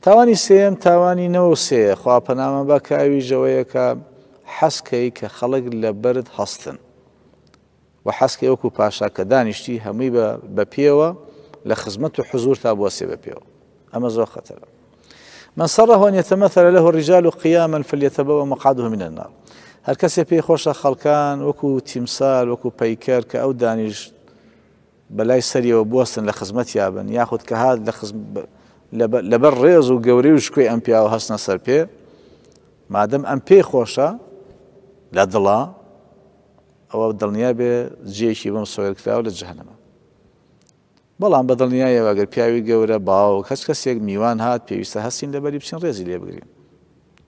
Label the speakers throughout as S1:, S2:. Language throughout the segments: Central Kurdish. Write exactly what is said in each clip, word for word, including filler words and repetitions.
S1: تاوانی سێم تاوانی نەوە سێ خوا پەنامان با کە ئەویش ئەوەیە کە حەزکەی کە خەڵک لە بەرد هەستن و حەزکەی وەکو پاشا کە دانیشتی هەمووی بە پێوە لە خزمەت و حزور تا بوەسێ بە پێوە، ئەمە زۆر خەتەرە. من سره أن يتمثل له الرجال قياما فليتبوأ مقعده من النار. هەر کەسێ پێی خۆشە خەڵکان وەکو تیمسال وەکو پەیکەر کە ئەو دانیشت بەلای سەریەوە بوەستن لە خزمەتیا بن، یاخود کە هات لەبەر ڕێز و گەورەی و شکۆی ئەم پیاوە هەستنە سەر پێ، مادەم ئەم پێی خۆشە لە دڵا ئەوە دڵنیا بێ جێیەکی بەم سۆیرکراوە لە جەهەنەمە. بەڵام بە دڵنیایەوە ئەگەر پیاوی گەورە باوک هەچ کەسێک میوان هات پێویستە هەستین لەبەری بچین ڕێزی لێ بگرین،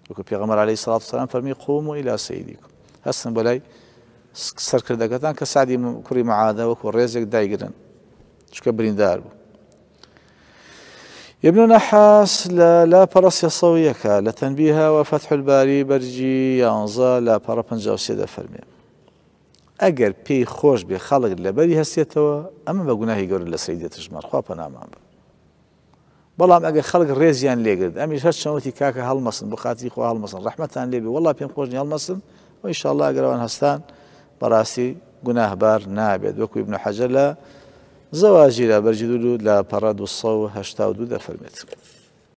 S1: وەکو پێغەمبەر عەلەیهی سڵات وسەلام فەرمی قوموا ئیلا سەیدیکم، هەستن بۆ لای سەرکردەکەتان کە سعدی کوڕی معادە وەکو ڕێزێک دایگرن چونکە بریندار بوو. ابن نحاس لا پەڕە سێ سەد و یەکە لە تەنبیهە و فەتح الباری بەرجی یانزە لا پەڕە پەنجا و سێ دەفەرمێ ئەگەر پێی خۆش بێ خەڵک لەبەری هەستێتەوە ئەمە بە گوناهی گەورە لە سەری دێتە ژمار، خوا پەنامان بە. بەڵام ئەگەر خەڵک ڕێزیان لێگرت ئەمیش هەر چەوتی کاکە هەڵمەسن بۆ خاتری خوا هەڵمەسن ڕەحمەتان لێبێ وەڵا پێم خۆش نییە هەڵمەسن و ئینشاءڵڵا ئەگەر ئەوان هەستان بەڕاستی گوناهبار نابێت، وەکو ئیبن حەجەر لە زەواجیرا بەرجی دوو لە پەڕە دوو سەد و هەشتا و دوو دەفەرمێت.